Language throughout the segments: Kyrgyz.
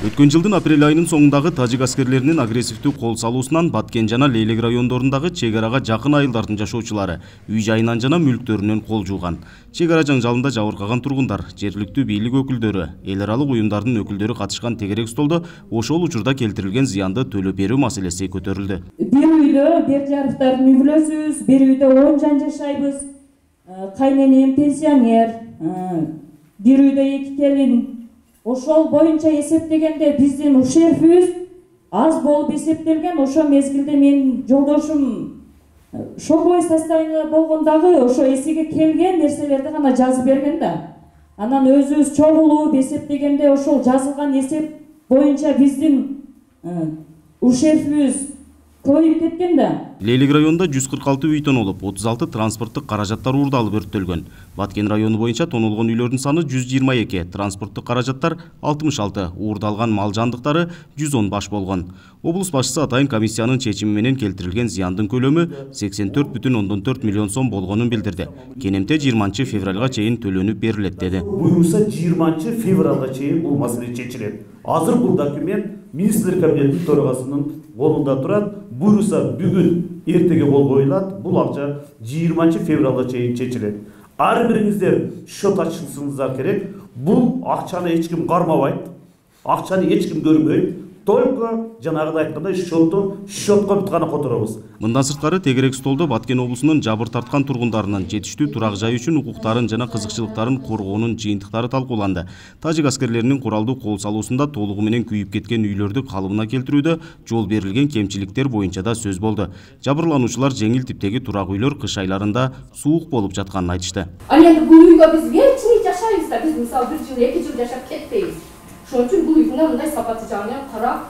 Өткөн жылдын апрель айынын соңундагы тажик аскерлеринин агрессивдүү кол салуусунан Баткен жана Лейлек райондорундагы чек арага жакын айылдардын жашоочулары үй жайынан жана мүлктөрүнөн кол жууган. Чек ара жаңжалында жабыркаган тургундар, жергиликтүү бийлик өкүлдөрү, эл аралык уюмдардын өкүлдөрү катышкан тегерек столдо ошол учурда келтирилген зыянды төлөп берүү маселеси көтөрүлдү. Бир үйдө Бердияровдордун үй бүлөсүбүз, бир үйдө 10 жан жашайбыз. Кайненем пенсионер, бир үйдө 2 келин. Ошол боюнча эсептегенде биздин ушербибиз аз болуп эсептелген. Ошо мезгилде менин жолдошум шоковой состояние болгондагы ошо эсиге келген нерселерди гана жазып берген да. Анан өзүбүз чогулуп эсептегенде ошол жазылган эсеп боюнча биздин ушербибиз көбөйүп кеткен да. Лейлек районунда 146 үй тонолуп, 36 транспорттук каражаттар уурдалып өрттөлгөн. Баткен району боюнча тонолгон үйлөрдүн саны 122, транспорттук каражаттар 66, уурдалган мал жандыктары 110 баш болгон. Облус башчысы атайын комиссиянын чечими менен келтирилген зыяндын көлөмү 84,4 миллион сом болгонун билдирди. Кенемте 20 февралга чейин төлөнүп берилет деди. Буюрса 20 февралга чейин бул маселе чечилет. Азыр бул документ министрлер кабинетинин төрагасынын колунда турат. Буюрса бүгүн эртеге кол коюлат. Бул акча 20 февралга чейин чечилет. Ар бириңиздер счет ачышыңыздар керек. Бул акчаны эч ким кармабайт. Акчаны эч ким көрбөйт. Только жанагыдай айткандай счетко бүт гана которобуз. Мындан сырткары тегерек столдо Баткен облусунун жабыр тарткан тургундарынын жетиштүү турак жай үчүн укуктарын жана кызыкчылыктарын коргоонун жыйынтыктары талкууланды. Тажик аскерлеринин куралдуу кол салуусунда толугу менен күйүп кеткен үйлөрдү калыбына келтирүүдө жол берилген кемчиликтер боюнча да сөз болду. Жабырлануучулар жеңил типтеги турак үйлөр кыш айларында суук болуп жатканын айтышты. Ал эми бул үйгө биз кечине жашайбыз да, биз мисалы 1 жыл 2 жыл жашап кетпейбиз. Ошон үчүн бул үйдүн мындай сапаты жагынан карап,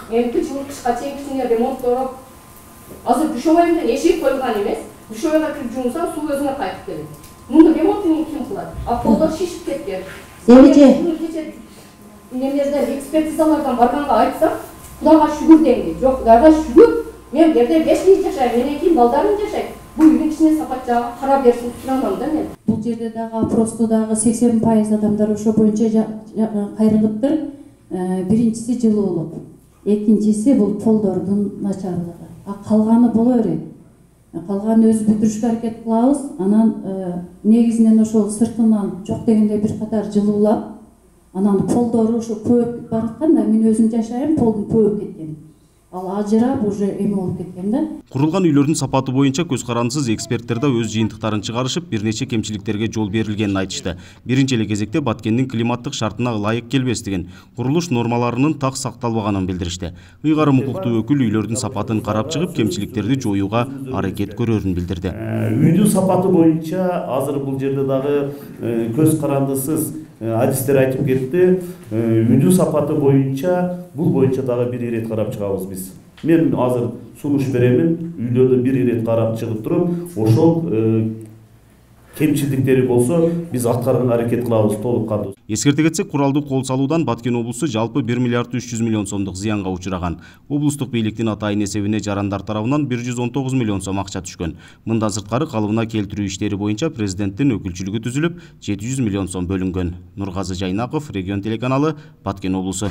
эмки жыл кышка чейин кичине ремонттоп, азыр душовой менен эшик коюлган эмес. Душовойго кирип жуунсаң суу өзүнө кайтып келет. Муну ремонтун ким кылат? А полдор шишип кеткен. Кече немелерден экспертизалардан барганга айтсак, Кудайга шүгүр дейм. Жок, Кудайга шүгүр. Мен жерде 5 жыл жашайм, менен кийин балдарым жашайт. Бул үйдүн кичине сапат жагы кара берсин турамам да мен. Бул жерде дагы просто дагы 80% адамдар ошо боюнча кайрылыптыр. Биринчиси жылуулук, экинчиси бул полдордун начарлыгы. А калганы боло берет. Калганы өзү бүтүрүшкө аракет кылабыз. Анан негизинен ошол сыртынан жок дегенде бир катар жылуулап, анан полдору ошо көбөйүп бараткан да, мен өзүм жашайм, полдун көбөйүп кеткен. Ал ажырап уже эме болуп кеткен да. Курулган үйлөрдүн сапаты боюнча көз карандысыз эксперттер да өз жыйынтыктарын чыгарышып, бир нече кемчиликтерге жол берилгенин айтышты. Биринчи эле кезекте Баткендин климаттык шартына ылайык келбестигин, курулуш нормаларынын так сакталбаганын билдиришти. Ыйгарым укуктуу өкүл үйлөрдүн сапатын карап чыгып, кемчиликтерди жоюуга аракет көрөрүн билдирди. Үйдүн сапаты боюнча азыр бул жерде дагы көз карандысыз адистер айтып кетти. Үйдүн сапаты боюнча бул боюнча дагы бир ирет карап чыгабыз биз. Мен азыр сунуш беремин, үйлөрдү бир ирет карап чыгып туруп, ошол кемчиликтери болсо биз аткарган аракет кылабыз толук кандуу. Эскерте кетсек, куралдуу кол салуудан Баткен облусу жалпы 1 миллиард 300 миллион сомдук зыянга учураган. Облустук бийликтин атайын эсебине жарандар тарабынан 119 миллион сом акча түшкөн. Мындан сырткары калыбына келтирүү иштери боюнча президенттин өкүлчүлүгү түзүлүп, 700 миллион сом бөлүнгөн. Нургазы Жайнаков, Регион телеканалы, Баткен облусу.